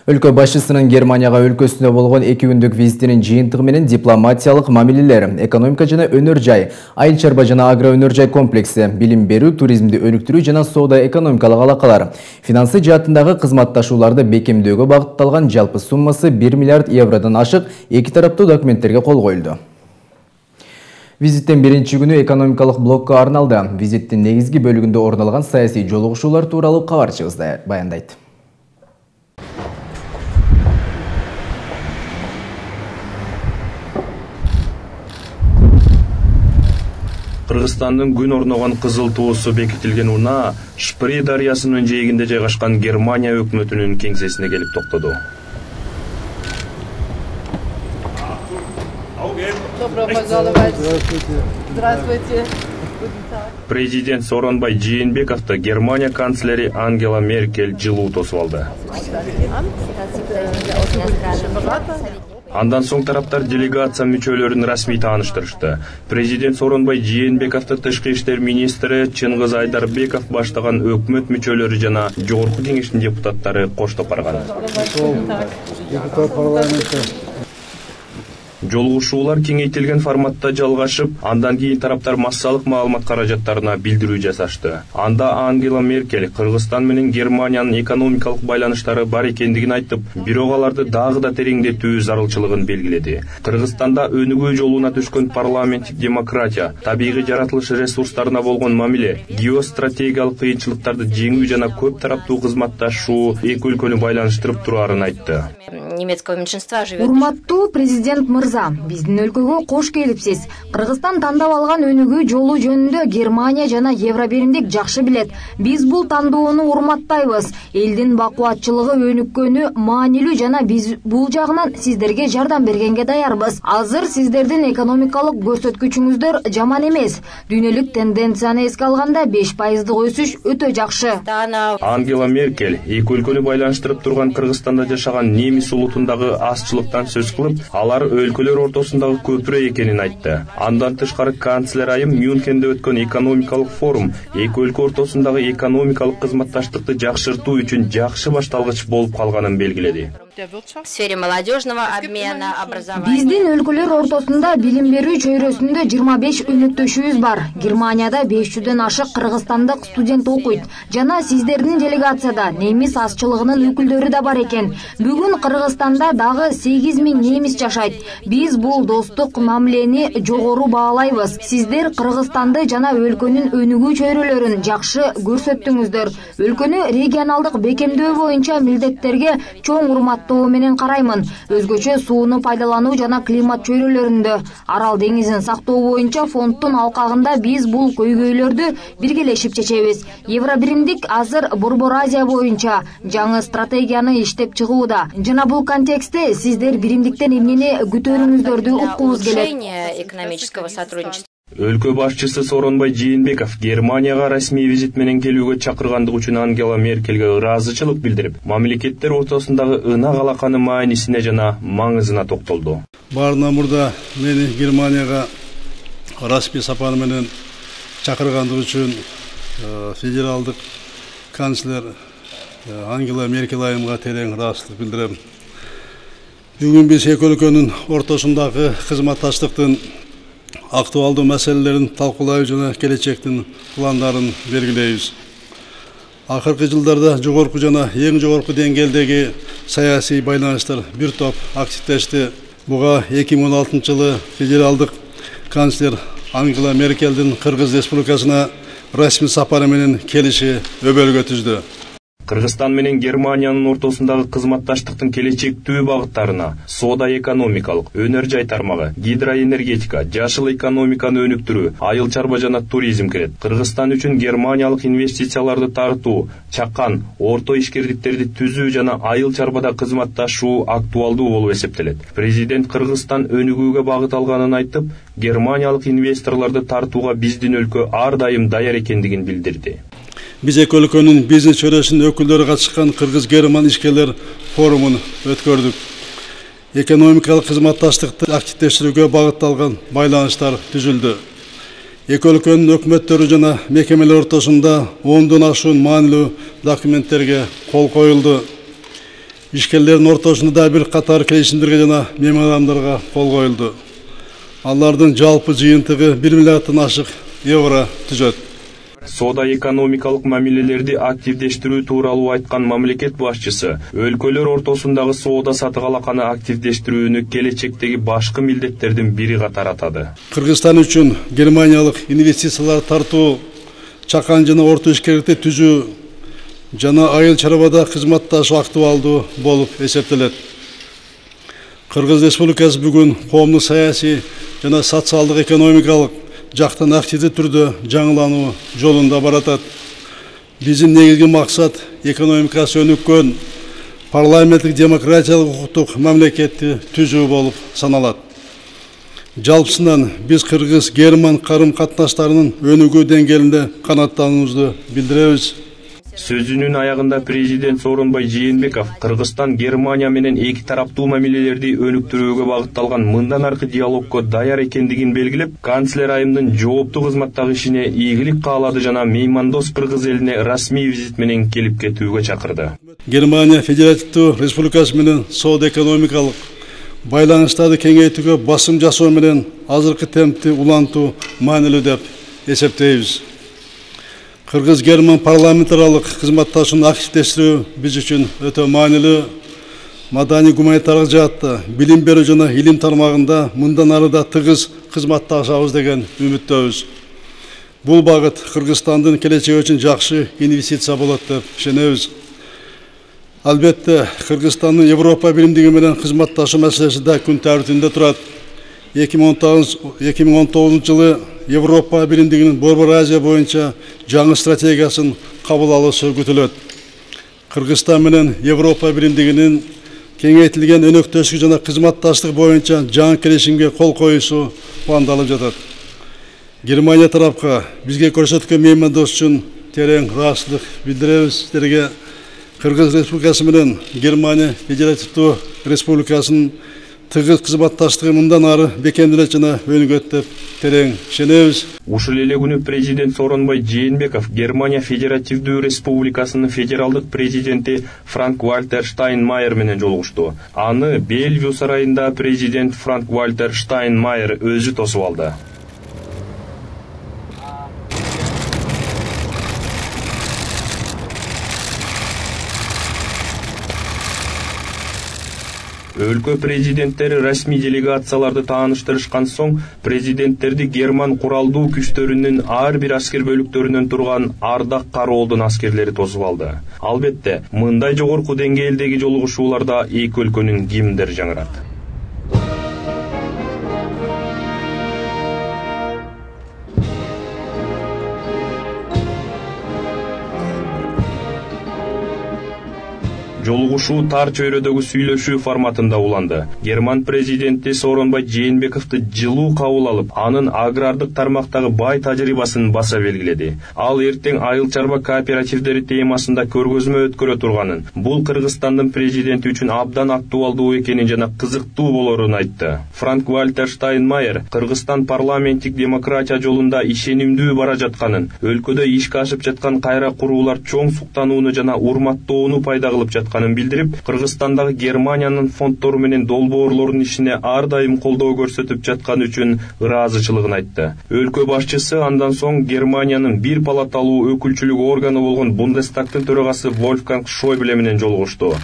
Өлкө башчысынын Германияга өлкөсүндө болгон 2 күндүк визитинин жыйынтыгы менен дипломатиялык мамилелер, экономика жана өнөр жай, айыл чарба жана агро өнөр жай комплекси, билим берүү, туризмди өнүктүрүү жана соода экономикалык алакалар, финансы жаатындагы кызматташууларды бекемдөөгө багытталган жалпы суммасы 1 миллиард евродон ашык 2 тараптуу документтерге кол коюлду. Визиттин биринчи күнү экономикалык блокко арналды. Визиттин негизги бөлүгүндө орун алган саясий жолугушуулар тууралуу кабарчыбыз баяндайт. Кыргызстандын күн орногон кызыл туусу бекитилген унаа Шпри дарыясынын жээгинде жайгашкан Германия өкмөтүнүн кеңсесине келип токтоду. Президент Сооронбай Жээнбековду Германия канцлери Ангела Меркель жылуу тосуп алды. Андан соң тараптар делегация мүчөлөрүн расмий тааныштырышты. Президент Сооронбай Жээнбековду тышкы иштер министри Чыңгыз Айдарбеков баштаган өкмөт мүчөлөрү жана Жогорку кеңештин депутаттары коштоп барган. Жолугушуулар кеңейтилген форматта жалгашып, андан кийин тараптар массалык маалымат каражаттарына билдирүү жасашты. Анда Ангела Меркель Кыргызстан менен Германиянын экономикалык байланыштары бар экендигин айтып, бирок аларды дагы да тереңдетүү зарылчылыгын белгиледи. Кыргызстанда өнүгүү жолуна түшкөн парламенттик демократия, табигый жаратылыш ресурстарына болгон мамиле, геостратегиялык кыйынчылыктарды жеңүү жана көп тараптуу кызматташуу эки өлкөнү байланыштырып тураарын айтты. Немецкого меньшинства живет. Урматтуу президент мырза, биздин өлкөгө кош келипсиз. Кыргызстан тандап алган өнүгүү жолу жөнүндө Германия жана Евробиримдик жакшы билет. Биз бул тандоону урматтайбыз. Элдин бакубатчылыгы өнүккөнү маанилүү жана биз бул жагынан сиздерге жардам бергенге даярбыз. Азыр сиздердин экономикалык көрсөткүчүңүздөр жаман эмес. Дүйнөлүк тенденцияны эске алганда 5% өсүш өтө жакшы. Ангела Меркель эки өлкөнү байланыштырып турган Кыргызстанда жашаган немис улутундагы азчылыктан сөз кылып, алар өлкөлөр ортосундагы көпүрө экенин айтты. Андан тышкары канцлер айым Мюнхенде өткөн экономикалык форум эки өлкө ортосундагы экономикалык кызматташтыкты жакшыртуу үчүн жакшы башталгыч болуп калганын белгиледи. В сфере молодежного обмена, образования. Биздин өлкөлөр ортосунда билим берүү чөйрөсүндө 25 өнөктөшүбүз бар. Германияда 500дөн ашык кыргызстандык студент окуйт. Жана сиздердин делегацияда немис азчылыгынын өкүлдөрү да бар экен. Бүгүн Кыргызстанда дагы 8000 немис жашайт. Биз бул достук мамилени жогору баалайбыз. Сиздер Кыргызстанды жана өлкөнүн өнүгүү чөйрөлөрүн жакшы көрсөттүңүздөр. Өлкөнү регионалдык бекемдөө боюнча милдеттерге чоң урматтоо менен караймын. Өзгөчө сууну пайдалануу жана климат чөйрөлөрүндө Арал деңизин сактоо боюнча фонддун алкагында биз бул көйгөйлөрдү биргелешип чечебиз. Евробиримдик азыр Борбор Азия боюнча жаңы стратегияны иштеп чыгууда. Жана бул контекстте сиздер биримдиктен эмнени күтөрүңүздөрдү уккубуз келет. Экономического сотрудничества. Өлкө башчысы Сооронбай Жээнбеков Германияга расмий визит менен келүүгө чакыргандыгы үчүн Ангела Меркельге ыраазычылык билдирип, мамлекеттер ортосундагы ынак алаканын маанисине жана маңызына токтолду. Баарынан мурда мени Германияга расмий сапар менен чакыргандыгы үчүн федералдык канцлер Ангела Меркель айымга терең ыраазычылык билдирем. Бүгүн биз эки өлкөнүн ортосундагы кызматташтыктын актуалдуу маселелерин талкуулайбыз жана келечектин пландарын белгилейбиз. Акыркы жылдарда жогорку жана эң жогорку деңгээлдеги саясий байланыштар бир топ активдешти. Буга 2016 жылы федералдык канцлер Ангела Меркельдин Кыргыз Республикасына расмий сапары менен келиши өбөлгө түздү. Кыргызстан менен Германиянын ортосундагы кызматташтыктын келечектүү багыттарына соода экономикалык, өнөр жай тармагы, гидроэнергетика, жашыл экономиканы өнүктүрүү, айыл чарба жана туризм кирет. Кыргызстан үчүн германиялык инвестицияларды тартуу, чакан, орто ишкерликтерди түзүү жана айыл чарбада кызматташуу актуалдуу болуп эсептелет. Президент Кыргызстан өнүгүүгө багыт алганын айтып, германиялык инвесторлорду тартууга биздин өлкө ар дайым даяр экендигин билдирди. Биз эки өлкөнүн бизнес чөйрөсүнүн өкүлдөрү катышкан Кыргыз-Герман ишкерлер форумун өткөрдүк. Экономикалык кызматташтыкты активдештирүүгө багытталган байланыштар түзүлдү. Эки өлкөнүн өкмөттөрү жана мекемелер ортосунда 10дон ашуун маанилүү документтерге кол коюлду. ишкерлердин ортосунда да бир катар келишимдерге жана меморандумдарга кол коюлду. Алардын жалпы жыйынтыгы 1 миллиарддан ашык евро түзөт. Соода экономикалык мамилелерди активдештирүү тууралуу айткан мамлекет башчысы өлкөлөр ортосундагы соода сатык алаканы активдештирүүнү келечектеги башкы милдеттердин бири катары атады. Кыргызстан үчүн германиялык инвестициялар тартуу, чакан жана орто ишкерликти түзүү жана айыл чарбада кызматташуу актуалдуу болуп эсептелет. Кыргыз Республикасы бүгүн коомдук саясий жана социалдык экономикалык жактан активдүү түрдө жаңылануу жолунда баратат. Биздин негизги максат экономикасы өнүккөн, парламенттик демократиялык укуктук мамлекетти түзүү болуп саналат. Жалпысынан биз кыргыз-герман карым катнаштарынын өнүгүү деңгээлинде канааттануубузду билдиребиз. Сөзүнүн аягында президент Сооронбай Жээнбеков Кыргызстан Германия менен эки тараптуу мамилелерди өнүктүрүүгө багытталган мындан аркы диалогго даяр экендигин белгилеп, канцлер айымдын жооптуу кызматтагы ишине ийгилик каалады жана меймандос кыргыз элине расмий визит менен келип кетүүгө чакырды. Германия Федеративдүү Республикасы менен соода экономикалык байланыштарды кеңейтүүгө басым жасоо менен азыркы темпти улантуу маанилүү деп эсептейбиз. Кыргыз-герман парламентаралык кызматташууну активдештирүү биз үчүн өтө маанилүү. Маданий гуманитардык жаатта, билим берүү жана илим тармагында мындан ары да тыгыз кызматташабыз деген үмүттөбүз. Бул багыт Кыргызстандын келечеги үчүн жакшы инвестиция болот деп ишенебиз. Албетте, Кыргызстандын Европа биримдиги менен кызматташуу маселеси да күн тартибинде турат. 2019 жылы Европа биримдигинин Борбор Азия боюнча жаңы стратегиясын кабыл алуусу күтүлөт. Кыргызстан менен Европа биримдигинин кеңейтилген өнөктөштүк жана кызматташтык боюнча жаңы келишимге кол коюусу пландалып жатат. Германия тарапка бизге көрсөткөн меймандос үчүн терең ыраазычылык билдиребиз. Сиздерге Кыргыз Республикасы менен Германия Федеративдүү Республикасынын тыгыз кызматташтыгы мындан ары бекемделет жана өнүгөт деп терең ишенебиз. Ушул эле күнү президент Сооронбай Жээнбеков Германия Федеративдүү Республикасынын федералдык президенти Франк-Вальтер Штайнмайер менен жолугушту. Аны Бельвью сарайында президент Франк-Вальтер Штайнмайер өзү тосуп алды. Өлкө президенттери расмий делегацияларды тааныштырышкан соң, президенттерди герман куралдуу күчтөрүнүн ар бир аскер бөлүктөрүнөн турган ардак кароолдун аскерлери тосуп алды. Албетте, мындай жогорку деңгээлдеги жолугушууларда эки өлкөнүн гимндери жаңырат. Жолугушуу тар чөйрөдөгү сүйлөшүү форматында уланды. Герман президенти Сооронбай Жээнбековду жылуу кабыл алып, анын агрардык тармактагы бай тажрыйбасын баса белгиледи. Ал эртең айыл чарба кооперативдери темасында көргөзмө өткөрө турганын, бул Кыргызстандын президенти үчүн абдан актуалдуу экенин жана кызыктуу болорун айтты. Франк-Вальтер Штайнмайер Кыргызстан парламенттик демократия жолунда ишенимдүү бара жатканын, өлкөдө ишке ашып жаткан кайра куруулар чоң суктанууну жана урматтоону пайда кылып жатканын билдирип, Кыргызстандагы Германиянын фонддору менен долбоорлордун ишине ар дайым колдоо көрсөтүп жатканы үчүн ыраазычылыгын айтты. Өлкө башчысы андан соң Германиянын бир палаталуу өкүлчүлүк органы болгон Бундестагтын төрагасы Вольфганг Шойбле менен жолугушту.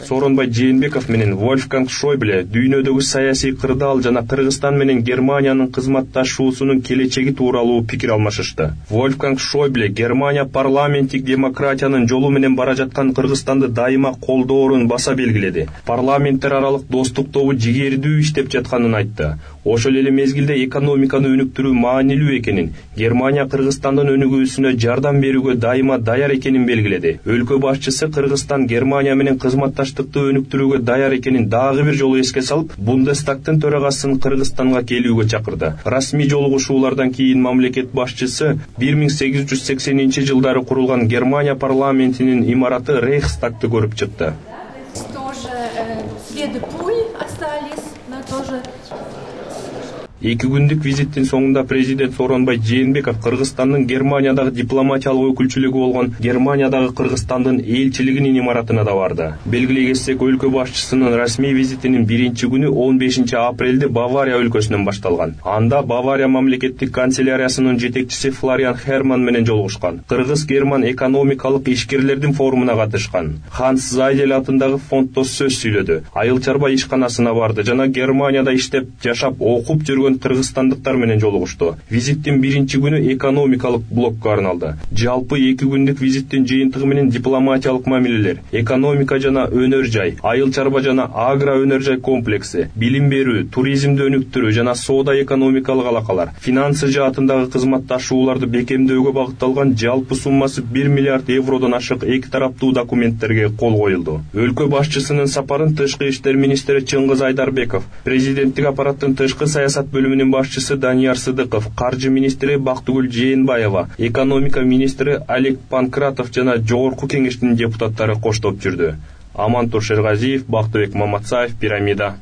Сооронбай Жээнбеков менен Вольфганг Шойбле дүйнөдөгү саясий кырдаал жана Кыргызстан менен Германиянын кызматташуусунун келечеги тууралуу пикир алмашышты. Вольфганг Шойбле Германия парламенттик демократиянын жолу менен бара жаткан Кыргызстанды дайыма колдоорун баса белгиледи. Парламенттер аралык достук тобу жигердүү иштеп жатканын айтты. Ошол эле мезгилде экономиканы өнүктүрүү маанилүү экенин, Германия Кыргызстандын өнүгүүсүнө жардам берүүгө дайыма даяр экенин белгиледи. Өлкө башчысы Кыргызстан Германия менен кызматташтыкты өнүктүрүүгө даяр экенин дагы бир жолу эске салып, Бундестагтын төрагасын Кыргызстанга келүүгө чакырды. Расмий жолугушуулардан кийин мамлекет башчысы 1880-жылдары курулган Германия парламентинин имараты Рейхстагты көрүп чыкты. 2 күндүк визиттин соңунда президент Сооронбай Жээнбеков Кыргызстандын Германиядагы дипломатиялык өкүлчүлүгү болгон Германиядагы Кыргызстандын элчилигинин имаратына да барды. Белгилей кетсек, өлкө башчысынын расмий визитинин 1-күнү 15 апрелде Бавария өлкөсүнөн башталган. Анда Бавария мамлекеттик канцеляриясынын жетекчиси Флориан Херман менен жолугушкан. Кыргыз-герман экономикалык ишкерлердин форумуна катышкан. Ханс Зайдель атындагы фонддо сөз сүйлөдү. Айыл чарба ишканасына барды жана Германияда иштеп, жашап, окуп жүргөн кыргызстандыктар менен жолугушту. Визиттин 1-күнү экономикалык блокко арналды. Жалпы 2 күндүк визиттин жыйынтыгы менен дипломатиялык мамилелер, экономика жана өнөр жай, айыл чарба жана агро өнөр жай комплекси, билим берүү, туризмди өнүктүрүү жана соода экономикалык алакалар, финансы жаатындагы кызматташууларды бекемдөөгө багытталган жалпы суммасы 1 миллиард евродон ашык 2 тараптуу документтерге кол коюлду. Өлкө башчысынын сапарын тышкы иштер министри Чыңгыз Айдарбеков, президенттик аппараттын тышкы саясат бөлүмүнүн башчысы Данияр Сыдыков, каржы министри Бактыгүл Жээнбаева, экономика министри Олег Панкратов жана жогорку кеңештин депутаттары коштоп жүрдү. Амантур Шергазиев, Бактыбек Маматсаев, Пирамида.